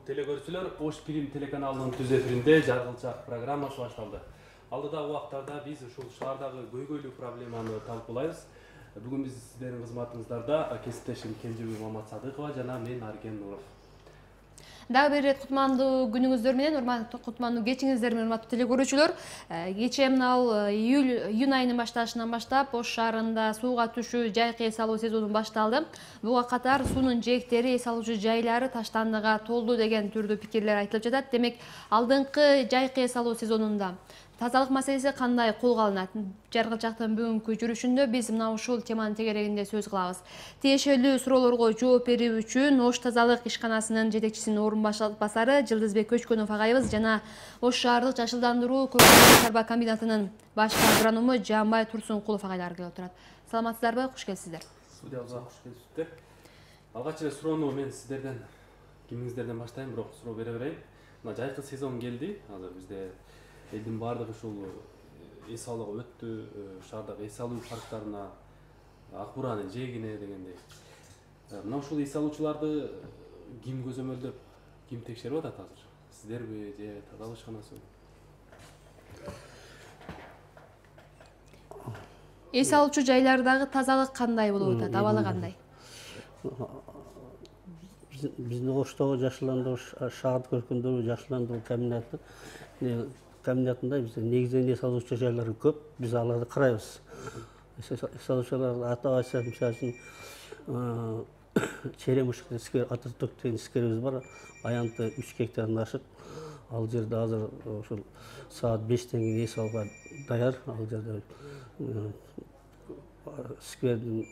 телекөрүүчүлөр, Ош Фильм телеканалынын түз эфиринде жаргылчак программасы башталды. Алдыдагы убактарда биз ушул шаардагы көйгөйлүү проблеманы талкуулайбыз. Бүгүн биз сиздердин кызматыңыздарда кесиптешим Кенжебек Маматсадыкова жана мен Арген Нуров. Дагы бир ирет кутмандуу күнүңүздөр менен, кутмандуу кечиңиздер менен, урматтуу телекөрүүчүлөр. Кечээ мына июнь айынын башталышынан баштап Ош шаарында сууга түшүү, жайкы эс алуу сезону башталды. Буга катар суунун жээктери, эс алуучу жайлары таштандыга толду деген түрдүү пикирлер айтылып жатат. Демек, алдыңкы жайкы эс алуу сезонунда тазалык маселеси кандай колго алынат? Жаргылчактын бүгүнкү жүрүшүндө биз мына ушул теманын тегерегинде сөз кылабыз. Тиешелүү суроолорго жооп берүү үчүн Ош тазалык ишканасынын жетекчисинин орун басары Жылдызбек Көчкөнов агайыбыз жана Ош шаардык жашылдандыруу көркөмдүк шарба комбинатынын башкы агроному Жаанбай Турсункулов агайлар келип отурат. Саламатсыздарбы? Куш келипсиздер. Студиябызга куш келипсиздер. Алгач эле суроону мен сиздерден, кимиңиздерден баштайм, бирок суроо бере берейин. Мына жайкы сезон келди. Азыр бизде элдин баардыгы ушул эс алууга өттү, шаардагы эс алуу парктарына, ак буранын жээгине дегендей. Мына ушул эс алуучуларды ким көзөмөлдөп, ким текшерип атат азыр? Сиздерби же тазалык ишканасыбы? Эс алуучу жайлардагы тазалык кандай болуп атат? Абалы кандай? Биздин Оштогу жашылдандыруу шаардык көркөмдөрү жашылдандыруу комбинатында бизде негизинен эс алуучу жайлар көп. Биз аларды карайбыз. Эс алуучуларды атап айтсак, мисалы үчүн Черемушка сквер, Ататүрк деген скверибиз бар. Аянты 3 гектардан ашык. Ал жерде азыр ошол саат 5тен кийин эс алууга даяр. Ал жерде сквердин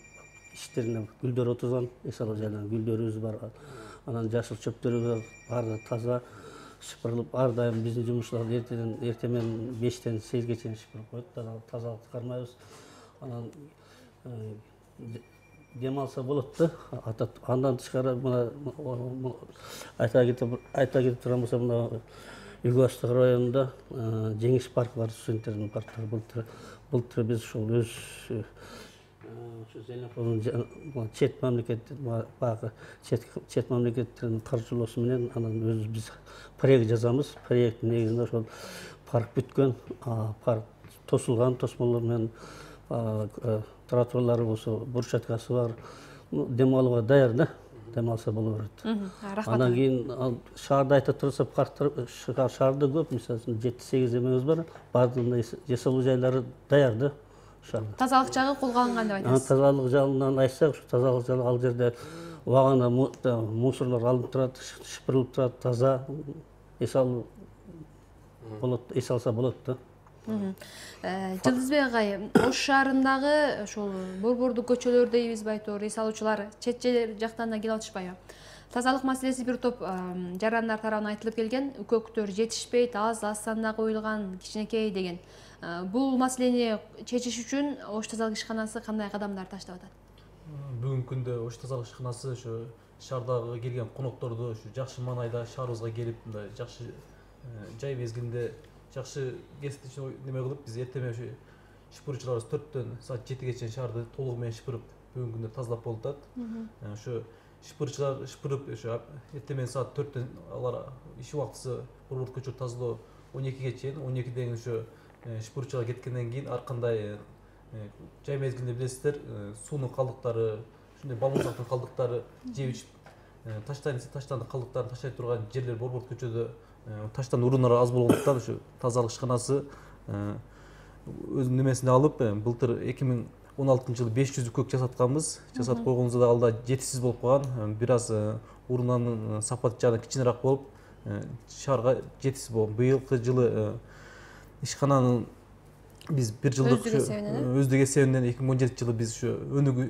ичтерине гүлдөр отурган, эс алуу жайларында гүлдөрүбүз бар. Анан жашыл чөптөрүбүз баары таза шыпырылып, ар дайым биздин жумушчулар эртең менен 5тен 8ге чейин шыпырып коет. Тазалыкты кармайбыз. Анан дем алса болот да. Андан тышкары мына айта кетип турган болсом, мына Үгү Астык районунда Жеңиш паркы бар, студенттердин парктары. Былтыр биз ушул өз чет мамлекеттердин каржылоосу менен анан өзүбүз биз проект жазабыз. Проекттин негизинде ошол парк бүткөн, парк тосулган, тосмолор менен тротуарлары болсо, брусчаткасы бар. Дем алууга даяр да, дем алса боло берет. Андан кийин шаарда айта турса, парктар шаарда көп, мисалы үчүн 7-8 эмебиз бар. Баардыгында эс алуу жайлары даяр да. Тазалык жагы колго алынган деп айтасыз. Тазалык жагынан айтсак, ушу тазалык жагы ал жерде убагында мусорлор алынып турат, шыпырылып турат, таза эс алуу болот, эс алса болот да. Жылдызбек агай, Ош шаарындагы ошол борбордук көчөлөр дейбизби айтор, эс алуучулар чет жактан да келип атышпайбы? Тазалык маселеси бир топ жарандар тарабынан айтылып келген, үкөктөр жетишпейт, аз санда коюлган, кичинекей деген. Бул маселени чечиш үчүн Ош тазалык ишканасы кандай кадамдар таштап атат? Бүгүнкү күндө Ош тазалык ишканасы ушу шаардагы келген конокторду ушу жакшы маанайда шаарыбызга келип, мындай жакшы жай мезгилинде жакшы неме кылып, биз эртең менен шыпыруучуларыбыз 4төн саат 7ге чейин шаарды толугу менен шыпырып, бүгүнкү күндө тазалап болуп атат. Ошо шыпыруучулар шыпырып, ошо эртең менен саат 4төн алар иш убактысы борбордук көчөлөрдү тазалоо 12ге чейин, 12ден кийин ошо шыпыруучулар кеткенден кийин ар кандай жай мезгилинде билесиздер, суунун калдыктары, ушундай балмузактын калдыктары, жеп ичип таштандык калдыктарын таштай турган жерлер борбордук көчөдө таштан уруундар аз болгондуктан ушу тазалык ишканасы өзүнүн немесине алып, былтыр 2016-жылы 500 үкөк жасатканбыз. Жасатып койгонубузда да ал да жетишсиз болуп калган. Бир аз уруунанын сапаты жагынан кичинерээк болуп, шаарга жетишсиз болгон. Быйылкы жылы ишкананын биз бир жылдык өздүк эсебинен 2017-жылы биз ушу өнүгүү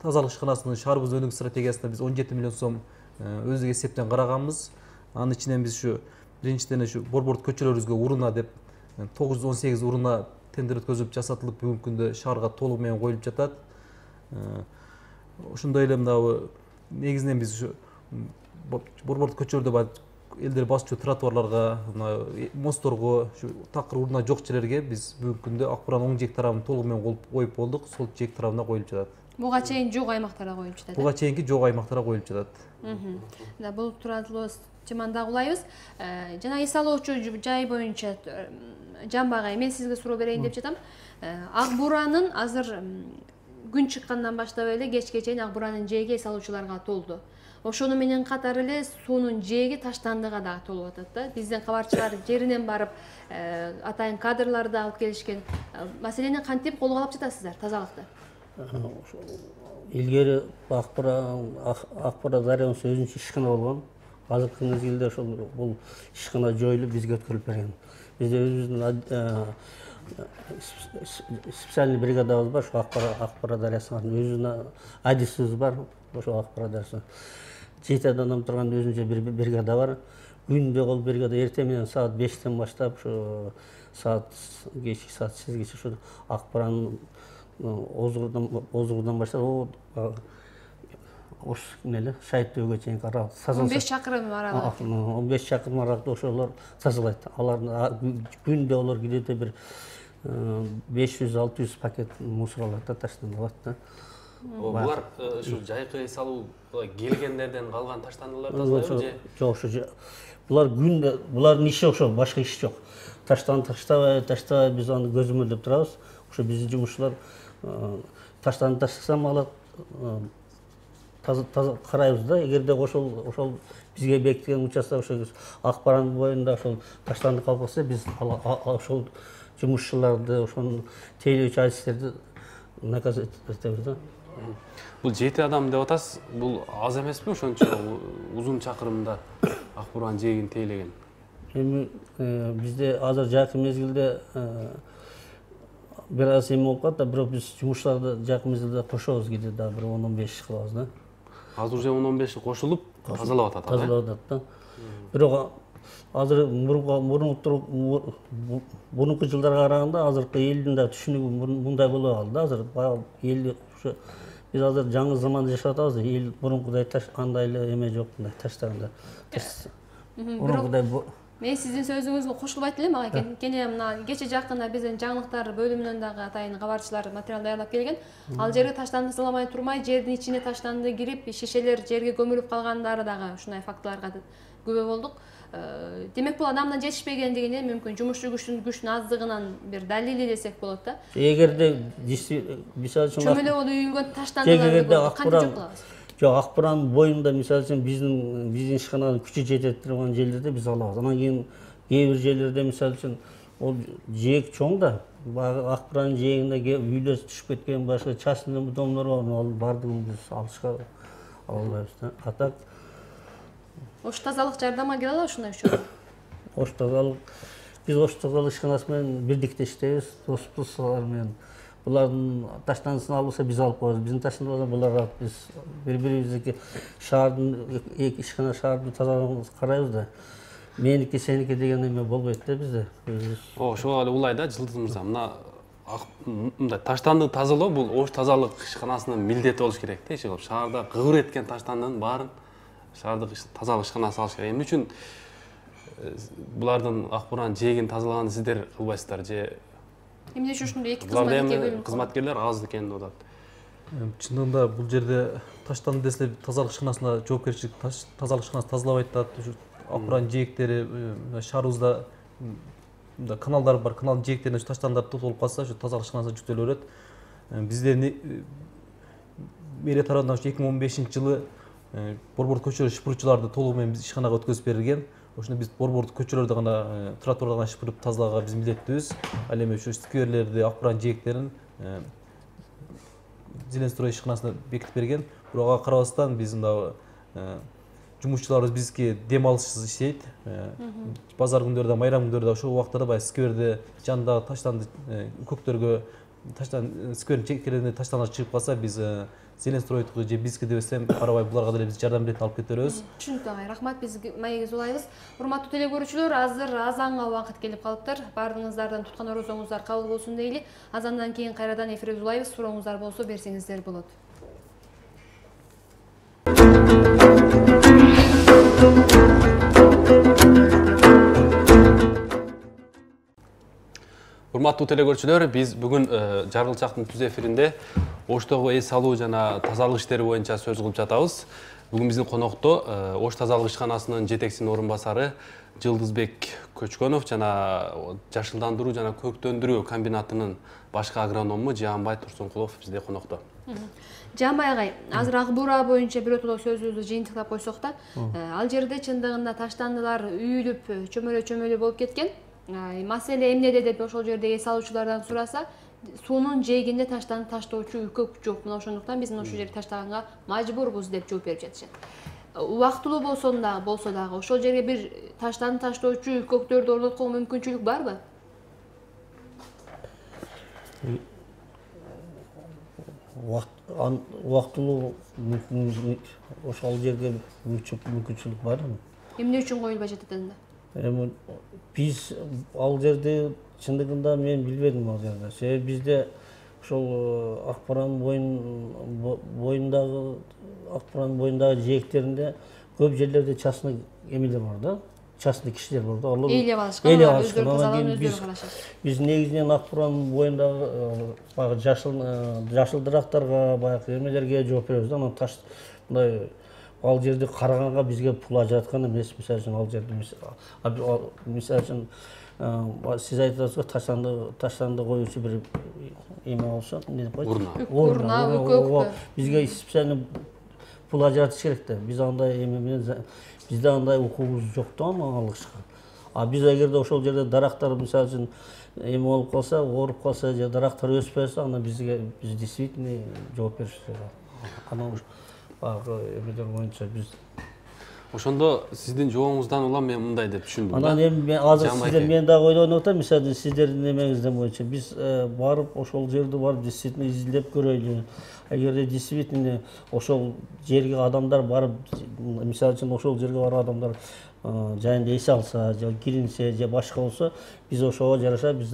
тазалык ишканасынын шаарыбыздын өнүгүү стратегиясына биз 17 миллион сом өздүк эсептен караганбыз. Анын ичинен биз ушу биринчиден ушу борбордук көчөлөрүбүзгө урууна деп 918 урууна тендер өткөзүп жасатылып, бүгүнкү күндө шаарга толугу менен коюлуп жатат. Ошондой эле мынабы негизинен биз ушу борбордук көчөлөрдө элдер басчу тротуарларга, мостторго, ушу такыр урууна жок жерлерге биз бүгүнкү күндө ак буран оң жээк тарабын толугу менен коюп болдук. Сол жээк тарабына коюлуп жатат. Буга чейин жок аймактарга коюлуп жатат. Буга чейинки жок аймактарга коюлуп жатат. Да, бул тууралуу чымандагы улайбыз. Жана эс алуучу жай боюнча Жамбагай, мен сизге суроо берейин деп жатам. Ак Буранын азыр күн чыккандан баштап эле кечке чейин Ак Буранын жээги эс алуучуларга толду. Ошону менен катар эле суунун жээги Таштандыга дагы толуп атат да. Биздин кабарчылар жеринен барып атайын кадрларды алып келишкен. Маселени кантип колго алып жатасыздар тазалыкты? Илгери Ак Бура дарыянын өзүнчө ишкана болгон. Азыркы мезгилде ошол бул ишкана жоюлуп бизге өткөрүлүп берген. Бизде өзүбүздүн специальный бригадабыз бар, ошо Ак Бура дарыясына өзүнүн адисибиз бар, ошо Ак Бура дарыясына 7 адам турган өзүнчө бир бригада бар. Күндө ол бригада эртең менен саат 5тен баштап ошо кечки саат 8гече ошо Ак Буранын озугудан баштап ош неле Шайыттөбөгө чейинки аралык 15 чакырым аралык. 15 чакырым аралыкта ошолор тазалайт. Алардын күндө олар где-то бир 500-600 пакет мусор алат да, таштандырат да. Булар ушу жайкы эс алуу келгендерден калган таштандылар тазалайбы же? Жок, ошо булар күндө булардын иши ошо, башка иш жок. Таштабай биз аны көзөмөлдөп турабыз. Ошо биздин жумушчулар таштанды таштасам алат, таза карайбыз да. Эгерде ошол бизге бекиткен участок ошо Ак Буранын боюнда ошол таштанды калып калса, биз ошол жумушчуларды, ошонун тейлөөчү адистерди наказать этебиз да. Бул 7 адам деп атасыз, бул аз эмеспи ошончо узун чакырымда Ак Буранын жээгин тейлеген? Эми бизде азыр жакын мезгилде бир аз эме болуп калат да, бирок биз жумушчуларды жакын мезгилде кошобуз, кийде дагы бир 10-15 кылабыз да. Азыр уже 10-15 кошулуп тазалап атат. Тазалап атат да. Бирок азыр мурунку жылдарга караганда азыркы элдин да түшүнүгү мындай болуп калды да. Азыр эл ушу биз азыр жаңы заманда жашап атабыз. Эл мурункудай андай эле эме жок, мындай таштаганда. Мурункудай мен сиздин сөзүңүзгө кошулбайт элем ага. Кене мына кече жакында биздин жаңылыктар бөлүмүнөн дагы атайын кабарчылар материал даярдап келген. Ал жерге таштанды саламай турмай, жердин ичине таштанды кирип, шишелер жерге көмүлүп калгандары дагы ушундай фактыларга күбө болдук. Демек бул адамдан жетишпегендигине, мүмкүн жумушчу күчтүн аздыгынан бир далили десек болот да. Эгерде мисалы үчүн чөмөлөп үйүлгөн таштандылар кантип жок кылабыз? Жок, Ак Буранын боюнда мисалы үчүн биздин ишкананын күчү жетет турган жерлерде биз алабыз. Анан кийин кээ бир жерлерде мисалы үчүн ол жээк чоң да, баягы Ак Буранын жээгинде үйлөр түшүп кеткен, башка частный домдор бар, ал бардыгын биз алышка ала албайбыз да. Атак Ош тазалык жардамга келе алабы ушундай учурда? Ош тазалык биз Ош тазалык ишканасы менен бирдикте иштейбиз, достар менен. Булардын таштандысын алса биз алып коебуз. Биздин таштандыбыздан булар алып, биз бири-бирибизге шаардын эки ишкана шаардын тазалыгына карайбыз да. Меники, сеники деген эме болбойт да бизде. Ошого эле улай да, Жылдыз мырза. Мындай таштанды тазалоо бул Ош тазалык ишканасынын милдети болуш керек да. Иши кылып шаарда кыбыр эткен таштандынын баарын шаардык тазалык ишканасы алыш керек. Эмне үчүн булардын Ак Буранын жээгин тазалаганды сиздер кылбайсыздар же? Эмне үчүн ушундай эки кызматкерлер аз экен деп атат. Чындыгында бул жерде таштанды десе тазалык ишканасына жоопкерчилик, тазалык ишканасы тазалабайт да. Ак Буранын жээктери шаарыбызда каналдар бар, каналдын жээктерине таштандар толуп калса, ошо тазалык ишканасына жүктөлө берет. Бизде мэрия тарабынан 2015-жылы борбордук көчөлөр шыпырчыларды толугу менен биз ишканага өткөзүп берилген. Ошондо биз борбордук көчөлөрдү гана, тротуарды гана шыпырып тазалаганга биз милдеттүүбүз. Ал эми ушу скверлерди, Ак Буранын жээктерин Зеленстрой ишканасына бекитип берген. Бирок ага карабастан биз мына жумушчуларыбыз бизге дем алышсыз иштейт. Базар күндөрдө, майрам күндөрдө ошол убактарда баягы скверде жанындагы таштанды көктөргө сквердин чектерине таштандар чыгып калса, биз Зеленстройдуку же биздики дебесем карабай буларга деле биз жардам берип алып кете беребиз. Түшүнүктүү агай, рахмат. Биз маегибизди улайбыз. Урматтуу телекөрүүчүлөр, азыр азанга убакыт келип калыптыр. Баардыгыңыздардан туткан орозоңуздар кабыл болсун дейли. Азандан кийин кайрадан эфирибизди улайбыз. Сурооңуздар болсо берсеңиздер болот. Урматтуу телекөрүүчүлөр, биз бүгүн Жаргылчактын түз эфиринде Оштогу эс алуу жана тазалык иштери боюнча сөз кылып жатабыз. Бүгүн биздин конокто Ош тазалык ишканасынын жетекчисинин орун басары Жылдызбек Көчкөнов жана жашылдандыруу жана көктөндүрүү комбинатынын башкы агроному Жаанбай Турсункулов бизде конокто. Жаанбай агай, азыр ак буура боюнча биротоло сөзүбүздү жыйынтыктап койсок да, ал жерде чындыгында таштандылар үйүлүп, чөмөлө болуп кеткен. Маселе эмнеде деп ошол жерде эс алуучулардан сураса, суунун жээгинде таштанып таштоочу үкөк жок. Мына ошондуктан биз ошол жерге таштаганга мажбурбуз деп жооп берип жатышат. Убактылуу болсо дагы ошол жерге бир таштанып таштоочу үкөктөрдү орнотконго мүмкүнчүлүк барбы? Убактылуу ошол жерге мүмкүнчүлүк барбы? Эмне үчүн коюлбай жатат анда? Эми биз ал жерде чындыгында мен билбедим ал жерде. Себеби бизде ошол Акбаранын боюндагы жээктеринде көп жерлерде частный эмелер бар да, частный кишилер бар да. Алар ээлеп алышкан, өздөрү тазаланып өздөрү карашат. Биз негизинен Акбаранын боюндагы баягы жашыл дырактарга, баягы эмелерге жооп беребиз да. Анан таш мындай ал жерди караганга бизге пул ажыраткан эмес. Мисалы үчүн ал жерде мисалы үчүн сиз айтып атасызго, таштанды коюучу бир эме болсо, эмне деп коет? Урна, үкөк. Бизге специально пул ажыратыш керек да. Биз андай эме менен бизде андай укугубуз жок да аны алышка. Биз эгерде ошол жерде дарактар мисалы үчүн эме болуп калса, ооруп калса же дарактар өспөй атса, анда биз действительно жооп беришибиз керек. Анан баягы эмелер боюнча биз Ошондо сиздин жообуңуздан улам мен мындай деп түшүндүм. Анан эми азыр сиздер мен дагы ойлонуп атам, мисалы сиздердин эмеңизден боюнча биз барып ошол жерди барып действительно изилдеп көрөйлү. Эгерде действительно ошол жерге адамдар барып, мисалы үчүн ошол жерге барып адамдар жайында эс алса, же киринсе, же башка болсо, биз ошого жараша биз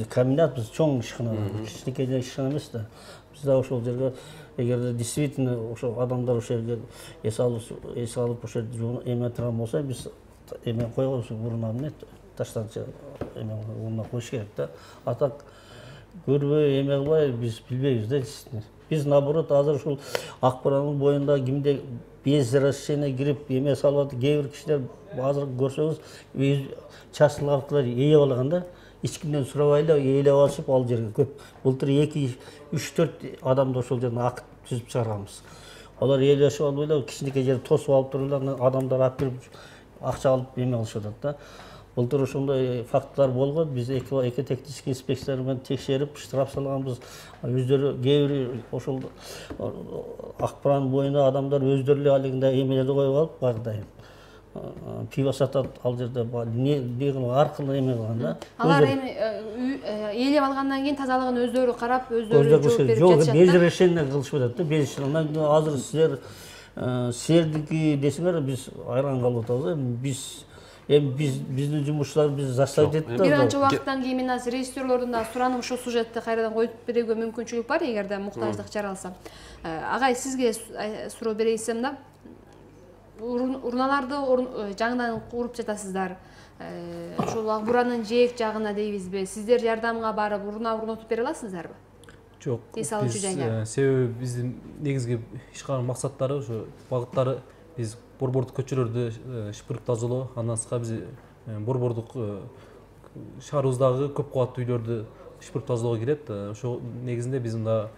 комбинат, биз чоң ишкана, кичинекей ишкана эмес да. Биз да ошол жерге эгерде действительно ошол адамдар ошол жерге эс алып ошол жерде эме турган болсо, биз эме койгонбуз, урна эмне таштанчы эме урна коюш керек да. А так көрбөй эме кылбай биз билбейбиз да. Биз наоборот азыр ушул Акбаранын боюнда кимде без разрешения кирип эме салып атат, кээ бир кишилер азыр көрсөңүз частный автобустар ээлеп алган да. Эч кимден сурабай эле ээлеп алышып ал жерге көп. Былтыр 2-3-4 адамды ошол жерден акыт түзүп чыгарганбыз. Алар ээлешип алып эле кичинекей жерди тосуп алып туруп эле адамдар алып кирип акча алып эме кылышып атат да. Былтыр ошондой фактылар болгон. Биз экотехнический инспекциялар менен текшерип, штраф салганбыз. Өздөрү кээ бир ошол Акбаранын боюнда адамдар өздөрү эле алигинде эмелерди коюп алып, баягыдай пиво сатат ал жерде, аркылуу эме кылган да. Алар эми ээлеп алгандан кийин тазалыгын өздөрү карап, өздөрү жооп берип жатышат. Жок, без разрешения кылышып атат да, без разрешения. Азыр силердики десеңер биз айран калып атабыз. Биздин жумушчулар биз заставить этти. Бир канча убакыттан кийин мен азыр режиссерлордун да сураным ушул сюжетти кайрадан коюп берүүгө мүмкүнчүлүк бар, эгерде муктаждык жаралса. Агай, сизге суроо берейсем да. Урналарды жаңыдан куруп жатасыздар. Ушул Акбуранын жээк жагына дейбизби? Сиздер жардамга барып урна орнотуп бере аласыздарбы? Жок. Эс алуучу жайга. Себеби биздин негизги ишканын максаттары ошо багыттары биз борбордук көчөлөрдү шыпырып тазалоо, андан сырткары биз борбордук шаарыбыздагы көп кабаттуу үйлөрдү шыпырып тазалоого кирет. Ошол негизинде биз мында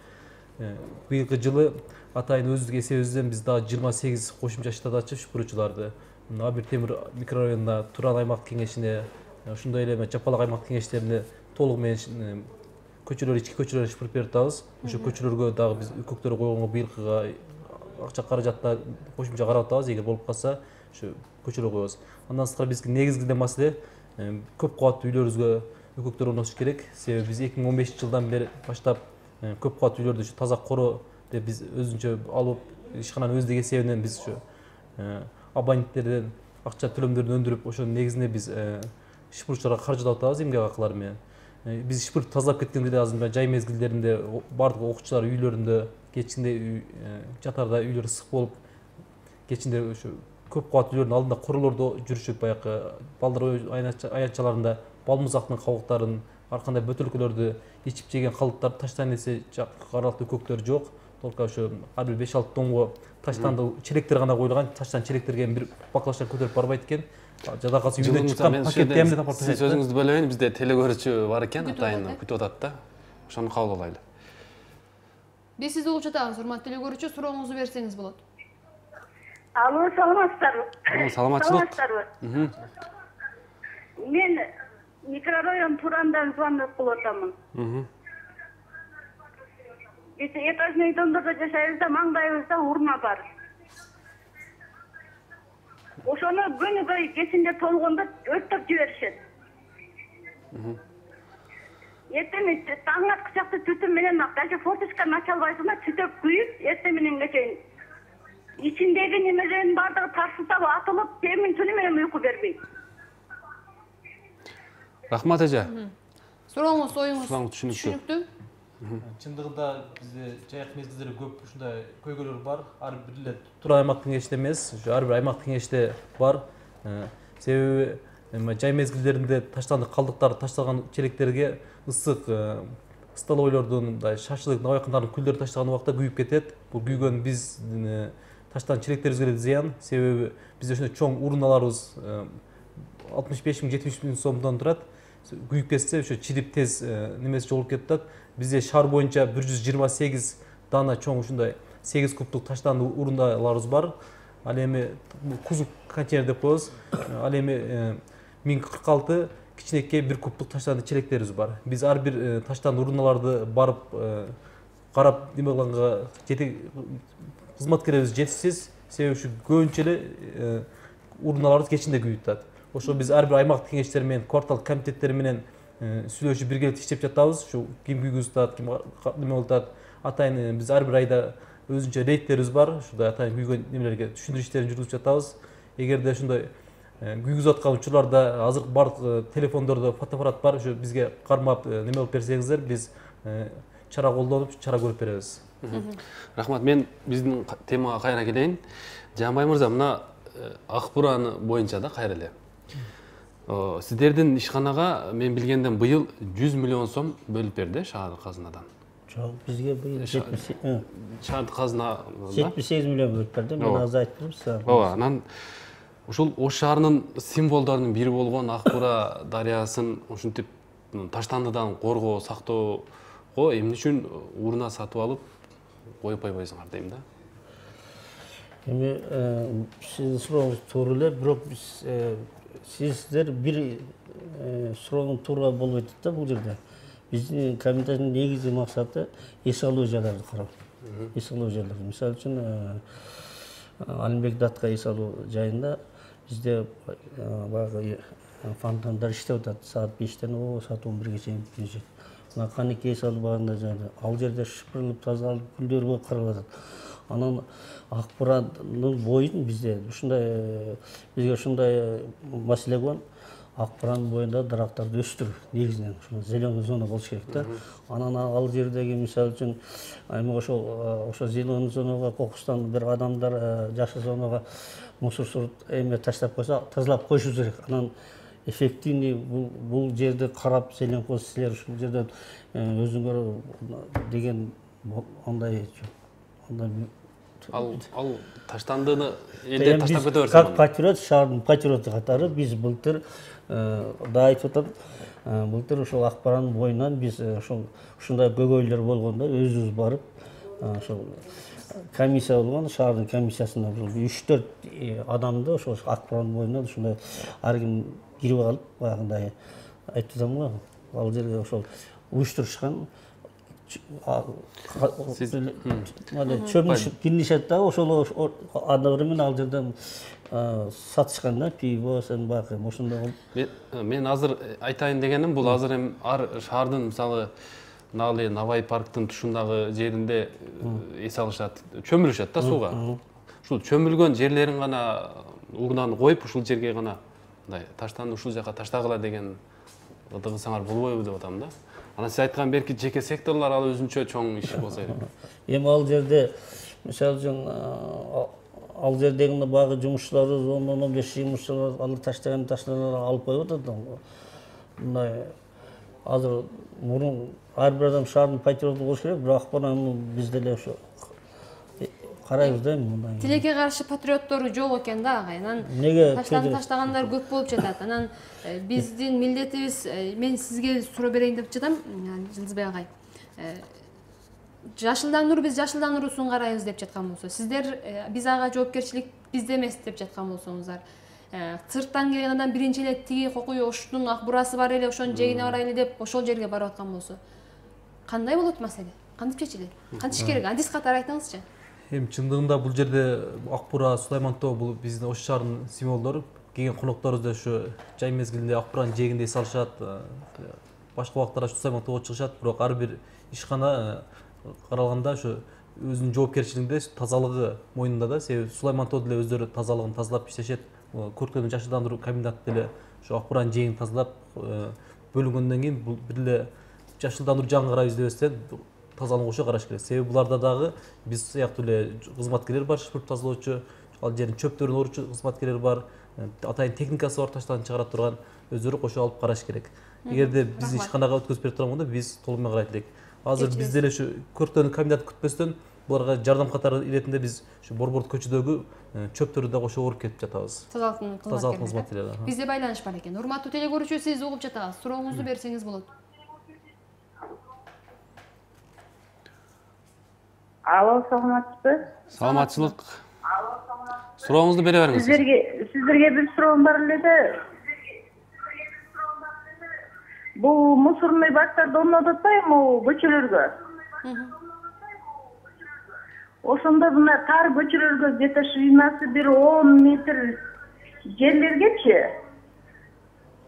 быйылкы жылы атайын өздүк эсебибизден биз дагы 28 кошумча штат ачып шыпыруучуларды Абир Темир микрорайонунда Туран аймактык кеңешине, ошондой эле Жапалак аймактык кеңештерине толугу менен көчөлөр, ички көчөлөрдү шыпырып берип атабыз. Ошо көчөлөргө дагы биз үкөктөр койгонго быйылкыга акча каражатта кошумча карап атабыз. Эгер болуп калса, ошо көчөлөргө коебуз. Андан сырткары бизге негизги маселе көп кабаттуу үйлөрүбүзгө үкөктөр орнотуш керек. Себеби биз 2015-жылдан бери баштап көп кабаттуу үйлөрдү таза коро деп биз өзүнчө алып, ишкананын өздүк эсебинен биз ошо абоненттерден акча төлөмдөрүн өндүрүп, ошо негизинде биз шыпыруучуларга каржылап атабыз эмгек акылары менен. Биз шыпырып тазалап кеткенде эле азыр жай мезгилдеринде бардык окуучулар үйлөрүндө кечинде жатарда үйлөр ысык болуп, кечинде ошо көп кабаттуу үйлөрдүн алдында королордо жүрүшүп, баягы балдар аянтчаларында балмузактын кабыктарын ар кандай бөтөлкөлөрдү ичип жеген калдыктарды таштайын десе аралыктуу көктөр жок. Только ошо ар бир 5-6 тонго таштанды челектер гана коюлган. Таштан cheлектерге бир баклашка көтөрүп барбайт экен. Жада калса үйдөн чыккан пакетти эмне тапап ташайт. Сиз өзүңүздү бөлөбөйүн, бизде телегөрүүчү бар экен, атайын күтүп атат да. Ошону кабыл алайлы. Биз сизди угуп жатабыз, урматтуу телекөрүүчү, сурооңузду берсеңиз болот. Алло, саламатсыздарбы? Саламатчылык. Мен микрорайон Турандан звонок кылып атамын. Биз этажный домдордо жашайбыз да, маңдайыбызда урна бар. Ошону күнүгө кечинде толгондо өрттөп жиберишет. Эртең таң аткычакты түтүн менен даже форточканы ача албайсың да, түтөп күйүп, эртең мененге чейин ичиндеги немелердин баардыгы тарсылтап атылып, темин түнү менен уйку бербейт. Рахмат эже. Сурооңуз, оюңуз түшүнүктүү. Чындыгында бизде жайык мезгилдери көп ушундай көйгөйлөр бар. Ар бир эле Туран аймактын кеңешинде эмес, ар бир аймактын кеңешинде бар. Себеби жай мезгилдеринде таштанды калдыктар ташталган челектерге ысык столовойлордун мындай шашлык набайкандардын күлдөрү таштаган убакта күйүп кетет. Бул күйгөн биз таштан челектерибизге деле зыян. Себеби бизде ошондой чоң урналарыбыз 65 000 70 000 сомдон турат. Күйүп кетсе ошо чирип тез немеси жолуп кетет. Бизде шаар боюнча 128 дана чоң ушундай 8 кубтук таштанды урундаларыбыз бар. Ал эми кузук контейнер деп коебуз. Ал эми 1046 кичинекей 1 кубтук таштанды челектерибиз бар. Биз ар бир таштанды урундаларды барып карап неме кылганга кызматкерлерибиз жетишсиз. Себеби ушу көбүнчө эле урундаларыбыз кечинде күйүп атат. Ошо биз ар бир аймактык кеңештер менен, квартал комитеттери менен сүйлөшүп биргеликте иштеп жатабыз. Ушу ким күйгүзүп атат, ким неме болуп атат. Атайын биз ар бир айда өзүнчө рейдтерибиз бар. Ушундай атайын күйгөн немелерге түшүндүрүү иштерин жүргүзүп жатабыз. Эгерде ушундай күйгүзүп аткан учурларда азыр бардык телефондордо фотоаппарат бар. Ошо бизге кармап неме кылып берсеңиздер, биз чара колдонуп, чара көрүп беребиз. Рахмат, мен биздин темага кайра келейин. Жамбай мырза, мына Акбуран боюнча да кайра эле. Сиздердин ишканага мен билгенден быйыл 100 миллион сом бөлүп берди шаардык казынадан. Жок, бизге быйыл Шаардык казына 78 миллион бөлүп берди. Мен азыр айтып берем сизге. Ооба, анан ушул Ош шаарынын символдорунун бири болгон Акбура дарыясын ушинтип таштандыдан коргоо, сактоого эмне үчүн урна сатып алып коюп койбойсуңар дейм да. Эми сиздин сурооңуз туура эле, бирок биз сиздер бир суроонун туура болбой атат да бул жерде. Биздин комитеттин негизги максаты эс алуу жайларды кароо. Эс алуу жайларды. Мисалы үчүн Алимбек Датка эс алуу жайында бизде баягы фонтандар иштеп атат. Саат 5-тен саат 11-ге чейин бүтүнүшөт. Мына Канеке эс албаганда жайында ал жерде шыпырылып, тазалып, гүлдөр болуп каралып атат. Анан Акбуранын боюн бизде ушундай бизге ушундай маселе болгон. Акбуранын боюнда дарактарды өстүрүү негизинен ушул зеленый зона болуш керек да. Анан ал жердеги мисалы үчүн эми ошо зеленый зонага кокустан бир адамдар жакшы зонага мусор эме таштап койсо тазалап коюшубуз керек. Анан эффективный бул жерди карап зеленкоз силер ушул жерден өзүңөр деген андай Ал таштандыны элдер таштап кете берсе. Как патриот, шаардын патриоты катары биз былтыр да айтып атам, былтыр ошол Акбуранын боюнан биз ушундай көйгөйлөр болгондо өзүбүз барып ошол комиссия болгон, шаардын комиссиясына 3-4 адамды ошол Акбуранын боюнан ушундай ар ким кирип алып, баягындай айтып атам го, ал жерге ошол уюштурушкан чөмүш кирнишет да, ошол одновременно ал жерден сатышкан да, пиво, сенбак, ошондой. Мен азыр айтайын дегеним, бул азыр эми ар шаардын мисалы Налы Навай парктын тушундагы жеринде эс алышат, чөмүлүшөт да сууга. Ушул чөмүлгөн жерлерин гана урнаны коюп, ушул жерге гана мындай таштанды ушул жака таштагыла деген ыдыгысаңар болбойбу деп атам да. Анан сиз айткан берки жеке секторлор ал өзүнчө чоң иш болсо керек. Эми ал жерде мисалы үчүн ал жердеги багы жумушчулары 10-15 жумушчулар алар таштагандар алып коюп атат. Мындай азыр мурун ар бир адам шаардын патриоту болуш керек, бирок акпараны биз деле ошо карайбыз да мындай. Тилекке каршы патриоттор жок экен да агай. Анан Эмнеге таштагандар көп болуп жатат. Анан биздин милдетибиз, мен сизге суроо берейин деп жатам, Жылдызбек агай. Жашылдандыруу, биз жашылдандыруусун карайбыз деп жаткан болсо, сиздер биз ага жоопкерчилик бизде эмес деп жаткан болсоңуздар, сырттан келген адам биринчи эле тиги кокуй оштун ак бурасы бар эле, ошонун жегине барайлы деп ошол жерге барып аткан болсо, кандай болот маселе? Кантип чечилет? Кантип чечиш керек? Адис катары айтыңызчы. Эми чындыгында бул жерде ак бура, Сулайман тоо бул биздин Ош шаарынын символдору. Келген конокторубуз да ушу жай мезгилинде ак буранын жээгиндей салышат. Башка убактарда Сулайман тоого чыгышат, бирок ар бир ишкана каралганда ушу өзүнүн жоопкерчилигинде тазалыгы мойнунда да. Себеби Сулайман тоо деле өздөрү тазалыгын тазалап иштешет. Көркөмдүк жашылдандыруу комбинаты деле ушу ак буранын жээгин тазалап бөлүнгөндөн кийин бул бир эле жашылдандыруу жагын карайбыз дебестен тазалыгын кошо караш керек. Себеби буларда дагы биз сыяктуу эле кызматкерлер бар, шыпырып тазалоочу, ал жердин чөптөрүн оручу кызматкерлер бар, атайын техникасы бар, таштан чыгара турган, өздөрү кошо алып караш керек. Эгерде биздин ишканага өткөзүп берип турганда биз толук менен карайт элек. Азыр биз деле ушу көркөмдүк комбинаты күтпөстөн буларга жардам катары иретинде биз ушу Борбордук көчөдөгү чөптөрдү да кошо уруп кетип жатабыз. Тазалыктын кызматкерлери. Бизде байланыш бар экен. Урматтуу теле көрүүчү, сиз угуп жатасыз. Сурооңузду берсеңиз болот. Алло, саламатсызбы? Саламатчылык. Сурооңузду бере бериңиз. Сиздерге бир суроом бар эле да. Бул мусорный бактарды орнотуп атпайбы көчөлөргө? Ошондо мына тар көчөлөргө где-то ширинасы бир 10 метр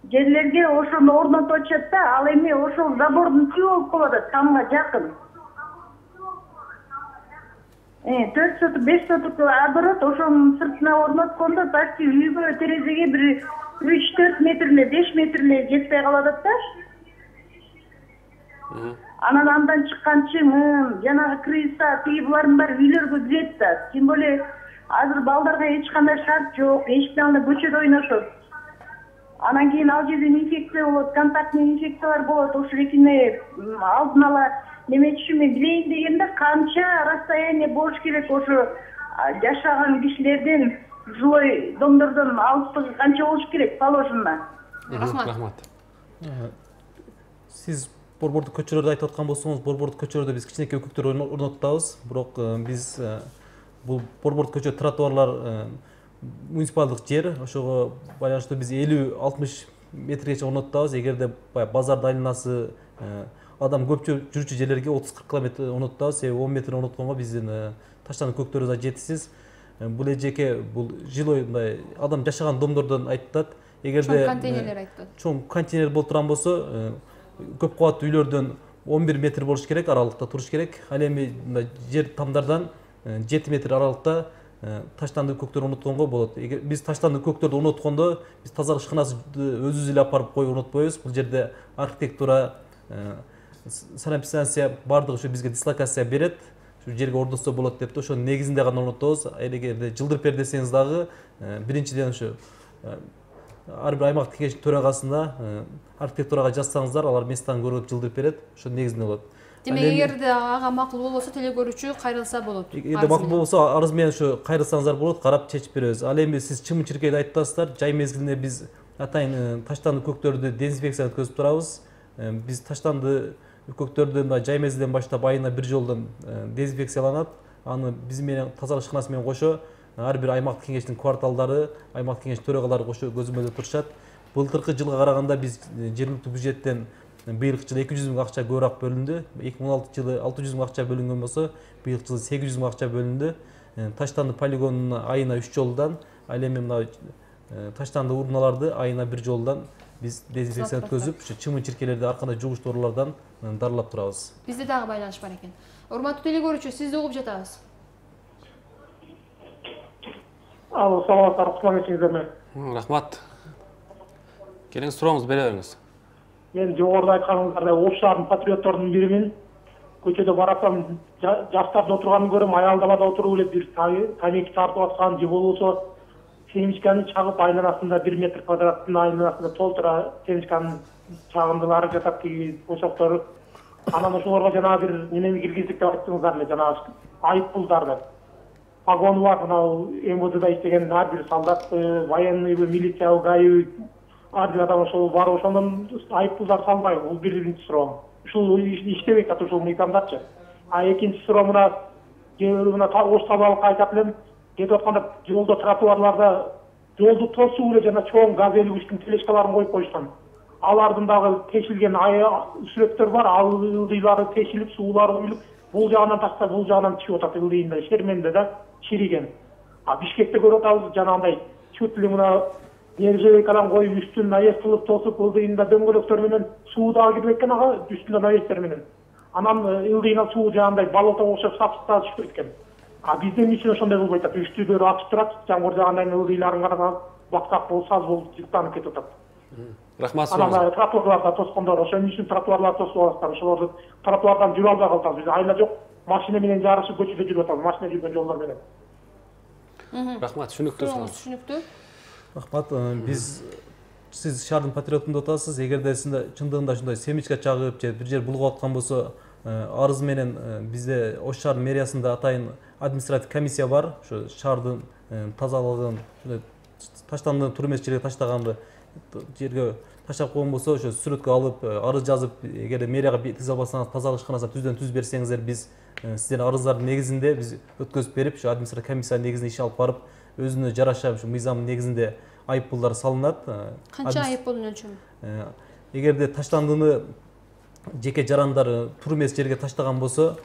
жерлерге ошону орнотуп атышат да, ал эми ошол забордун түбү болуп калат, тамга жакын. 4 соток, 5 соток оборот ошонун сыртына орноткондо почти үйгө терезеге бир 3-4 метр эле, 5 метр эле жетпей калат да. Анан андан чыккан чыңын, жанагы крыса, тиги булардын баары үйлөргө кирет да. Тем более азыр балдарга эч кандай шарт жок, эшиктен анда көчөдө ойношот. Анан кийин ал жерден инфекция болот, контактный инфекциялар болот. Ошо экине алдын ала немечи мен билейин дегенде канча расстояние болуш керек ошо жашаган кишилерден, жилой домдордон алыстыгы канча болуш керек положено. Рахмат. Сиз Борбордук көчөлөрдү айтып аткан болсоңуз, Борбордук көчөлөрдө биз кичинекей өкүктөр орнотабыз, бирок биз бул Борбордук көчө тротуарлар муниципалдык жер, ошого байланыштуу биз 50-60 метргече орнотабыз. Эгерде базардын айланасы адам көп жүрүүчү жерлерге 30-40 километр орнотабыз. Себеби 10 метр орнотконго биздин таштандын көктөрүбүз да жетишсиз. Бул эжеке бул жилой мындай адам жашаган домдордон айтылат. Эгерде контейнерлер айтылат. Чоң контейнер болуп турган болсо, көп кабаттуу үйлөрдөн 11 метр болуш керек, аралыкта туруш керек. Ал эми жер тамдардан 7 метр аралыкта таштандык көктөр орнотконго болот. Биз таштандык көктөрдү орноткондо биз тазалык ишканасын өзүбүз эле алып барып коюп орнотпойбуз. Бул жерде архитектура, санэпидстанция баардыгы ушу бизге дислокация берет. Ушу жерге орнотсо болот деп ошонун негизинде гана орнотобуз. Эгерде жылдырып бер десеңиз дагы биринчиден ушу ар бир аймактык кеңештин төрагасына архитектурага жазсаңыздар, алар местан көрүп жылдырып берет. Ошонун негизинде болот. Демек, эгерде ага макул болбосо теле көрүүчү кайрылса болот. Эгерде макул болбосо арыз менен ушу кайрылсаңыздар болот, карап чечип беребиз. Ал эми сиз чымын-чиркейди айтып атасыздар. Жай мезгилинде биз атайын таштандык көктөрдү дезинфекция өткөзүп турабыз. Биз таштанды көктөрдү жай мезгилден баштап айына бир жолдон дезинфекцияланат. Аны биз менен тазалык ишканасы менен кошо ар бир аймактык кеңештин кварталдары, аймактык кеңеш төрагалары кошо көзөмөлдө турушат. Былтыркы жылга караганда биз жергиликтүү бюджеттен быйылкы жылы 200 миң акча көбүрөөк бөлүндү. 2016 жылы 600 миң акча бөлүнгөн болсо, быйылкы жылы 800 миң акча бөлүндү. Таштанды полигонуна айына 3 жолдан, ал эми мына таштанды урналарды айына 1 жолдан биз дезинфекция өткөзүп, ушу чымын-чиркейлерди ар кандай жугуч доорулардан дарылап турабыз. Бизде дагы байланыш бар экен. Урматтуу теле көрүүчү, сизди угуп жатабыз. Алло, саламатсыздар, кутман. Рахмат. Келиңиз, сурооңузду бере бериңиз. Мен жогоруда айтканыңыздардай Ош шаарынын патриотторунун биримин. Көчөдө баратсам, жаштардын отурганын көрөм, аялдамада отуруп эле бир тамеки тартып аткан же болбосо семечканы чагып айланасында 1 метр квадраттын айланасында толтура семечканын чагындылары жатат, тиги ошоктор. Анан ошолорго жанагы бир немени киргиздик деп айттыңыздар эле, жанагы айып пулдарды. Погону бар, мынау МВДда иштеген ар бир солдат, военныйбы, милициябы, ГАИбы, ар бир адам ошол бар, ошондон айып пулдар салбайбы? Бул биринчи суроом. Ушул иштебей атат ушул мыйзамдачы. А экинчи суроо мына ош табалыкка айтат элем, кетип атканда жолдо тротуарларда жолду тосуу эле жана чоң газ элгичтин тележкаларын коюп коюшкан. Алардын дагы тешилген сүрөттөр бар, ал ылдыйлары тешилип, суулары куюлуп, бул жагынан ташта, бул жагынан чыгып атат ылдыйында, шерменде да чириген. А Бишкекте көрүп атабыз жанагындай чүт эле мына нержавейкадан коюп үстүн навес тосуп, ылдыйында дөңгөлөктөр менен суу дагы кирип экен ага, үстүндө навестер менен. Анан ылдыйынан суу жагандай болото окшоп сапсып дагы чыгып кеткен. А биздин үчүн ошондой болбойт атат. Үстүлөр ачык турат, жамгыр жагандай ылдыйларын карап, баксак болуп, саз болуп жыттанып кетип атат. Рахмат. Анан тротуарларда тоскондор, ошон үчүн тротуарларды тосуп аласыздар. Ошолорду тротуардан жүрө албай калдык. Биз айла жок, машина менен жарышып көчөдө жүрүп атабыз, машина жүргөн жолдор менен. Рахмат, түшүнүктүү. Түшүнүктүү. Рахмат. Биз сиз шаардын патриотун деп атасыз. Эгерде сиз чындыгында ушундай семечка чагып же бир жер булгап аткан болсо, арыз менен бизде Ош шаар мэриясында атайын административ комиссия бар. Ошо шаардын тазалыгын, таштандыны тур эмес жерге таштаганды жерге таштап койгон болсо, ошо сүрөткө алып, арыз жазып, эгерде мэрияга тийзе албасаңыз тазалык ишканасына түздөн түз берсеңиздер, биз сиздердин арыздардын негизинде биз өткөзүп берип, ошо административ комиссиянын негизинде иш алып барып, өзүнө жараша ушу мыйзамдын негизинде айып пулдар салынат. Канча айып пулдун өлчөмү? Эгерде таштандыны жеке жарандар тур эмес жерге таштаган болсо,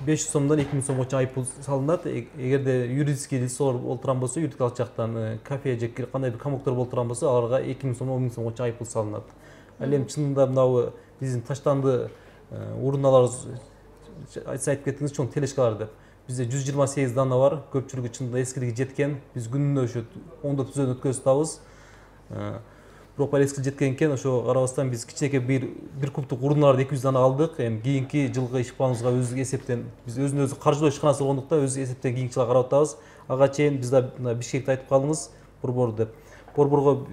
500 сомдон 2000 сомго чейин айып пул салынат. Эгерде юридический лицолор болуп турган болсо, юридикалык жактан кафе же кандай бир комоктор болуп турган болсо, аларга 2000 сомдон 10 000 сомго чейин айып пул салынат. Ал эми чынында мынабу биздин таштанды урналарыбыз, айтып кеттиңиз, чоң тележкалар деп. Бизде 128 дана бар, көпчүлүгү чынында эскилиги жеткен. Биз күнүнө ошо ондоп түздөн өткөзүп атабыз. Бирок эскилиги жеткен экен, ошо карабастан биз кичинекей бир кубтук урналарды 200 дана алдык. Эми кийинки жылкы иш планыбызга өзү эсептен биз өзүнө каржылоо ишканасы болгондуктан өзү эсептен кийинки жылга карап атабыз. Ага чейин биз да Бишкекте айтып калдыңыз, борбор деп. Борборго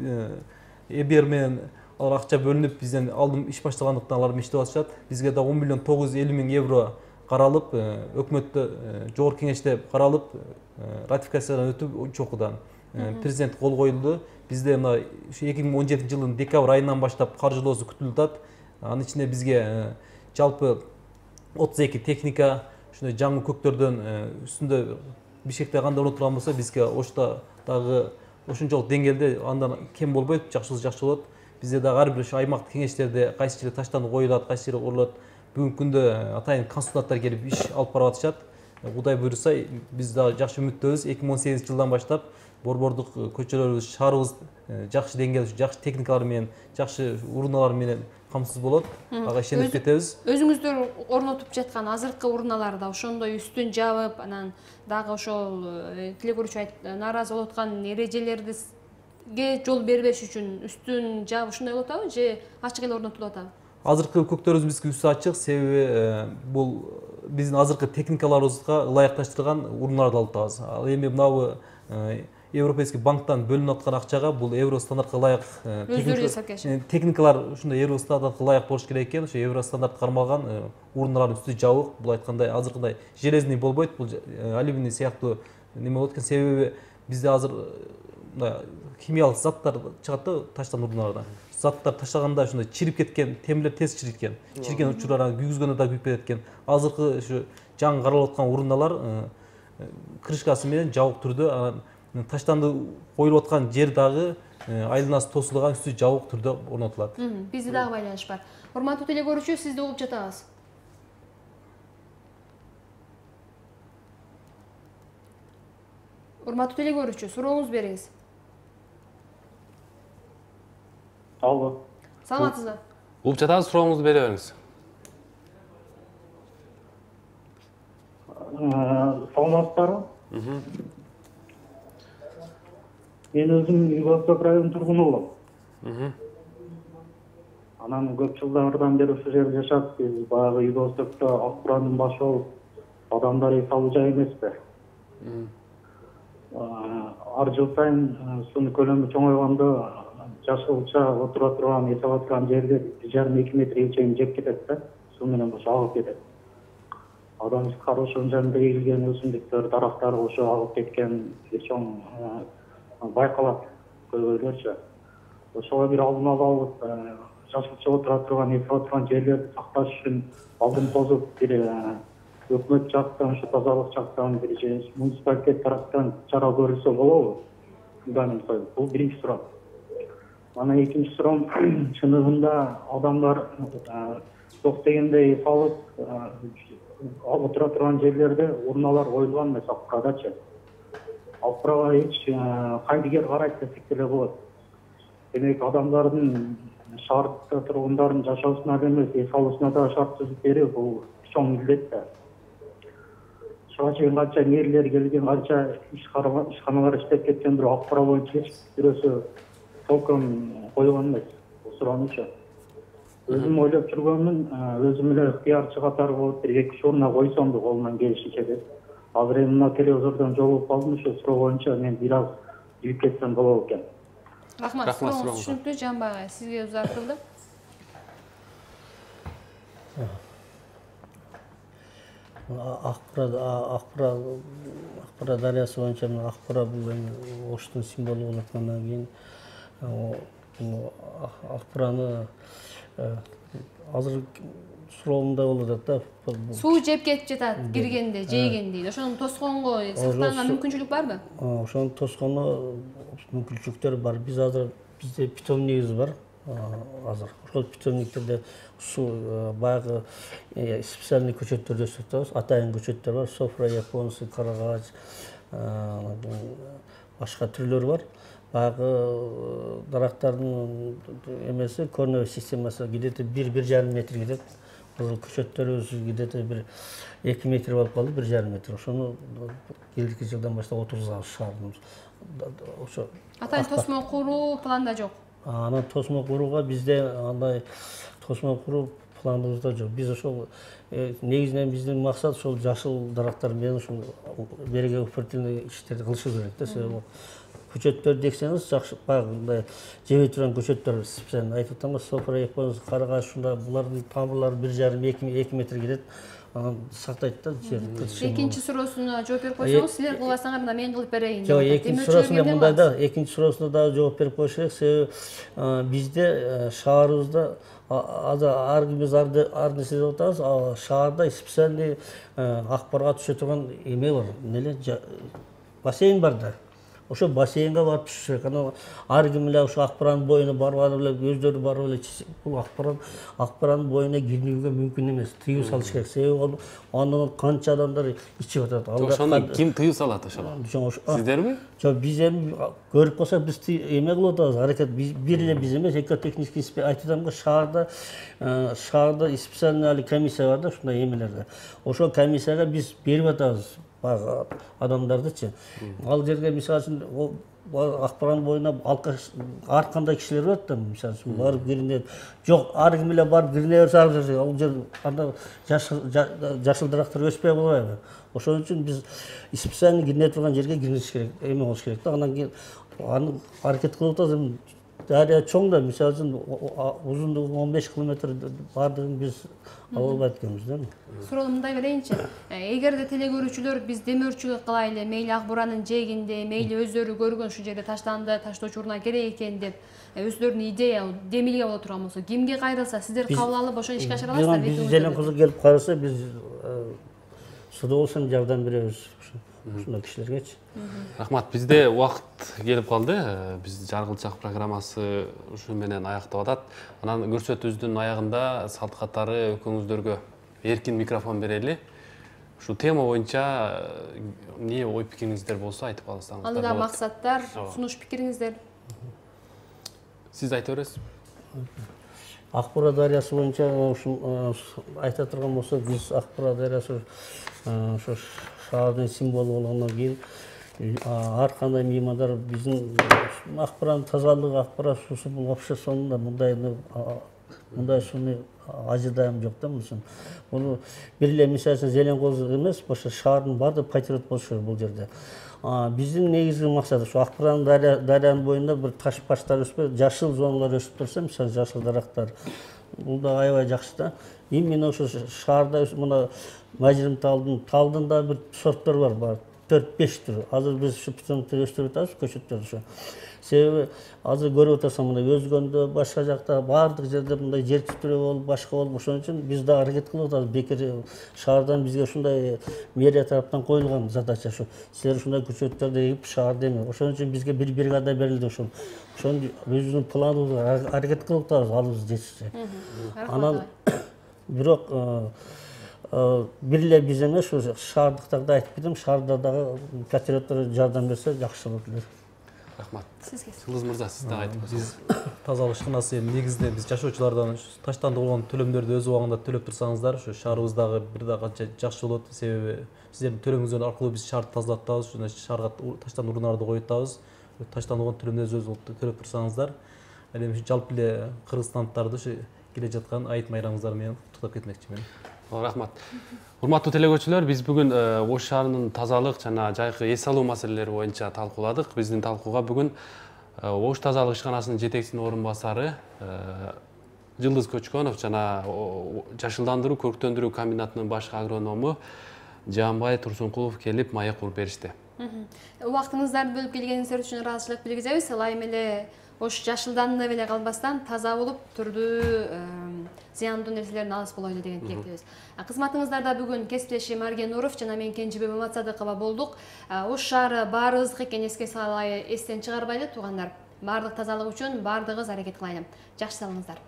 ЭБР менен алар акча бөлүнүп, бизден алдым иш башталгандыктан алар иштеп атышат. Бизге да 10 миллион 950 миң евро каралып, өкмөттө жогорку кеңеште каралып, ратификациядан өтүп, үч окуудан президент кол коюлду. Бизде мына 2017 жылдын декабрь айынан баштап каржылоосу күтүлүп атат. Анын ичинде бизге жалпы 32 техника, ушундай жаңы көктөрдөн үстүндө Бишкекте кандай орнотулган турган болсо, бизге Ошто дагы ошончолук деңгээлде андан кем болбойт, жакшы болот. Бизде дагы ар бир ошо аймактык кеңештерде кайсы жерде таштанды коюлат, кайсы жерде курулат. Бүгүнкү күндө атайын консультанттар келип иш алып барып атышат. Кудай буйруса, биз дагы жакшы үмүттөбүз. 2018 жылдан баштап борбордук көчөлөрүбүз, шаарыбыз жакшы деңгээлде, жакшы техникалар менен, жакшы урналар менен камсыз болот. Ага ишенип кетебиз. Өзүңүздөр орнотуп жаткан азыркы урналарда ошондой үстүн жабып, анан дагы ошол тилек көрүүчү нааразы болуп аткан эрежелерди жол бербеш үчүн үстүн жаап ушундай болуп атабы же ачык эле орнотулуп атабы? Азыркы көктөрүбүз бизге үстү ачык, себеби бул биздин азыркы техникаларыбызга ылайыкташтырылган урналарды алып атабыз. Ал эми мынабу Европейский банктан бөлүнүп аткан акчага бул евро стандартка ылайык техникалар ушундай евро стандартка ылайык болуш керек экен. Ошо евро стандарт кармалган урналардын үстү жабык. Бул айткандай азыркындай железный болбойт, бул алюминий сыяктуу неме болот экен. Себеби бизде азыр химиялык заттар чыгат да таштан урналардан. Заттар таштаганда ушундай чирип кеткен, темирлер тез чириккен. Чириккен учурлар күйгүзгөндө да күйүп кетет экен. Азыркы ушу жаңы каралып аткан урналар крышкасы менен жабык түрдө, таштанды коюлуп аткан жер дагы айланасы тосулган, үстү жабык түрдө орнотулат. Бизде дагы байланыш бар. Урматтуу теле көрүүчү, сизди угуп жатабыз. Урматтуу теле көрүүчү, сурооңузду бериңиз. Алло. Саламатсызбы? Угуп жатабыз, сурооңузду бере бериңиз. Саламатсыздарбы? Мен өзүм Юго-Восток районунун тургуну болом. Анан көп жылдардан бери ушул жерде жашап, биз баягы Юго-Востокто ак бурандын башы болуп, адамдар эс алуу жай эмеспи. Ар жыл сайын суунун көлөмү чоңойгондо жашылча отура турган, эс ала турган жерде 1,5-2 метрге чейин жеп кетет да, суу менен ошо агып кетет. Адам ошонун жанында эгилген өсүмдүктөр, дарактар ошо агып кеткен чоң байкалат көйгөйлөрчү. Ошого бир алдын алып, жашылча отура турган, эс ала турган жерлерди сакташ үчүн алдын тосуп бир өкмөт жактан, ушу тазалык жактан бир муниципалитет тараптан чара көрүлсө болобу? Бул биринчи суроо. Анан экинчи суроом, чыныгында адамдар ток дегенде эс алып отура турган жерлерде урналар коюлган эмес Акпарадачы. Акпарага эч кайдыгер карайт десек деле болот. Демек адамдардын шаарда тургундардын жашоосуна эмес, эс алуусуна да шарт түзүп берүү бул чоң милдет да. Ошого чейин канча мэрлер келген, канча ишканалар иштеп кеткен, бирок Акпара боюнча эч бирөөсү толком койгон эмес бул суроонучу. Өзүм ойлоп жүргөнмүн, өзүм эле ыктыярчы катары болуп бир 2-3 урна койсом деп колумдан келишинче деп. Азыр эми мына телевизордон жолугуп калдым, ошол суроо боюнча мен бир аз жүрүп кетсем болот экен. Рахмат, сурооңуз түшүнүктүү. Жамбыл агай, сизге узартылды. Акпара дарыясы боюнча Акпара бул эми Оштун символу болуп аткандан кийин Акпараны азыр суроомда болуп атат да. Суу жеп кетип жатат киргенде, жейгенде дейт. Ошону тосконго сактаганга мүмкүнчүлүк барбы? Ошону тосконо мүмкүнчүлүктөр бар. Бизде питомнигибиз бар азыр. Ошол питомниктерде суу баягы специальный көчөттөрдү өсүп атабыз. Атайын көчөттөр бар. Софра, японцы, карагач, башка түрлөр бар. Баягы дарактардын эмеси корневой системасы где-то 1,5 метр кетет. Көчөттөрүбүз где-то бир 2 метр болуп калды, 1,5 метр. Ошону келдики жылдан баштап отургузабыз шаардын. Ошо Атайын тосмо куруу планда жок. Анан тосмо курууга бизде андай тосмо куруу планыбызда жок. Биз ошол негизинен биздин максат ошол жашыл дарактар менен ушул берегоупортивный иштерди кылышы керек да. Себеби көчөттөр десеңиз жакшы баягындай жебей турган көчөттөр специально айтып атам, софра, японцы, карагач, ушундай булардын тамырлары 1,5-2 метр кетет. Анан сактайт да жерди. Экинчи суроосуна жооп берип койсоңуз, силер кылбасаңар мына мен кылып берейин. Жок, экинчи суроосуна мындай да, экинчи суроосуна дагы жооп берип коюш керек. Себеби бизде шаарыбызда азыр ар кимибиз ар нерсе деп атабыз, шаарда специальный Акпарага түшө турган эме бар. Эмне бассейн бар да. Ошо бассейнге барып түшүш керек. Анан ар ким эле ошо Акпаранын боюна барып эле өздөрү барып эле бул Акпаранын боюна кирүүгө мүмкүн эмес. Тыюу салыш керек. Себеби андан канча адамдар ичип атат. Ошону ким тыюу салат ошого? Сиздерби? Жок, биз эми көрүп калсак биз эме кылып атабыз, аракет бир эле биз эмес, экотехнический айтып атам го, шаарда специальный комиссия бар да ушундай эмелерде. Ошол комиссияга биз берип атабыз адамдардычы. Ал жерге мисалы үчүн Акпаранын боюна ар кандай кишилер барат да, мисалы үчүн барып киринет. Жок, ар ким эле барып кирине берсе, ал жер анда жашыл дарактар өспөй болбойбу? Ошон үчүн биз специально кирине турган жерге кириш керек, эме болуш керек да. Анан кийин аны аракет кылып атабыз. Дарыя чоң да, мисалы үчүн узундугу 15 километр бардыгын биз ала албайт экенбиз да. Суроону мындай берейинчи. Эгерде телекөрүүчүлөр биз демөөрчүлүк кылайлы, мейли Акбуранын жээгинде, мейли өздөрү көргөн ушул жерде таштанды, таштоочу урна керек экен деп өздөрүнүн идея, демилге боло турган болсо, кимге кайрылса сиздер кабыл алып ошону ишке ашыра аласыздар? Биз желең кызы келип кайрылса, биз суда болсо жардам беребиз ушундай кишилергечи. Рахмат, бизде убакыт келип калды. Биз Жаргылчак программасы ушу менен аяктап атат. Анан көрсөтүүбүздүн аягында салт катары экөөңүздөргө эркин микрофон берели. Ушу тема боюнча эмне ой пикириңиздер болсо айтып алсаңыздар. Алдыда максаттар, сунуш пикириңиздер. Сиз айта бересиз. Акпара дарыясы боюнча ушу айта турган болсок, биз Акпара дарыясы ошо шаардын символу болгондон кийин ар кандай меймандар биздин Акпаранын тазалыгы, Акпара суусу бул обществонун да мындай сууну ажыдаем жок да мисалы. Бул бир эле мисалы үчүн Зелен Козу эмес, ошо шаардын баардыгы патриот болушу керек бул жерде. Биздин негизги максат ушу Акбаран дарыянын боюнда бир таш баштар өспөй, жашыл зоналар өсүп турса, мисалы жашыл дарактар. Бул да аябай жакшы да. Именно ошо шаарда мына Мажирим талдын да бир сорттор бар. 4-5 түр. Азыр биз ушу питомникте өстүрүп атабыз, көчөттөрдү ушу. Себеби азыр көрүп атасың мына Өзгөндө, башка жакта баардык жерде мындай жер титирөө болуп, башка болуп, ошон үчүн биз да аракет кылып атабыз. Бекер шаардан бизге ушундай мэрия тараптан коюлган задача ушу. Силер ушундай көчөттөрдү эгип шаарда эме. Ошон үчүн бизге бир бригада берилди ошол. Ошону өзүбүздүн планыбызга аракет кылып атабыз, алыбыз жетишче. Анан бирок бир эле биз эмес, шаардыктарда айтып кетем, шаарда дагы патриоттор жардам берсе жакшы болот эле. Рахмат. Сизге. Жылдыз мырза, сиз да айтып Биз тазалык ишканасы негизинде биз жашоочулардан таштандырылган төлөмдөрдү өз убагында төлөп турсаңыздар, ушу шаарыбыздагы бир да канча жакшы болот. Себеби сиздердин төлөмүңүздөр аркылуу биз шаарды тазалап атабыз, шаарга таштан уруналарды коюп атабыз. Таштандырылган төлөмдөрдү өз төлөп турсаңыздар, эми жалпы эле кыргызстандыктарды ушу келе жаткан айыт майрамыңыздар менен куттуктап кетмекчимин. Рахмат. Урматтуу телекөрүүчүлөр, биз бүгүн Ош шаарынын тазалык жана жайкы эс алуу маселелери боюнча талкууладык. Биздин талкууга бүгүн Ош тазалык ишканасынын жетекчисинин орун басары Жылдыз Көчкөнов жана жашылдандыруу көрктөндүрүү комбинатынын баш агроному Жаанбай Турсункулов келип маек куруп беришти. Убактыңыздарды бөлүп келгениңиздер үчүн ыраазычылык билгизебиз. Ылайым эле Ош жашылданып эле калбастан таза болуп, түрдүү зыяндуу нерселерден алыс болойлу деген тилектебиз. Кызматыңыздарда бүгүн кесиптешим Арген Нуров жана мен Кенжебек Маматсадыкова болдук. Ош шаары баарыбыздык экенин эске салалы, эстен чыгарбайлы туугандар. Баардык тазалык үчүн баардыгыбыз аракет кылайлы. Жакшы салыңыздар.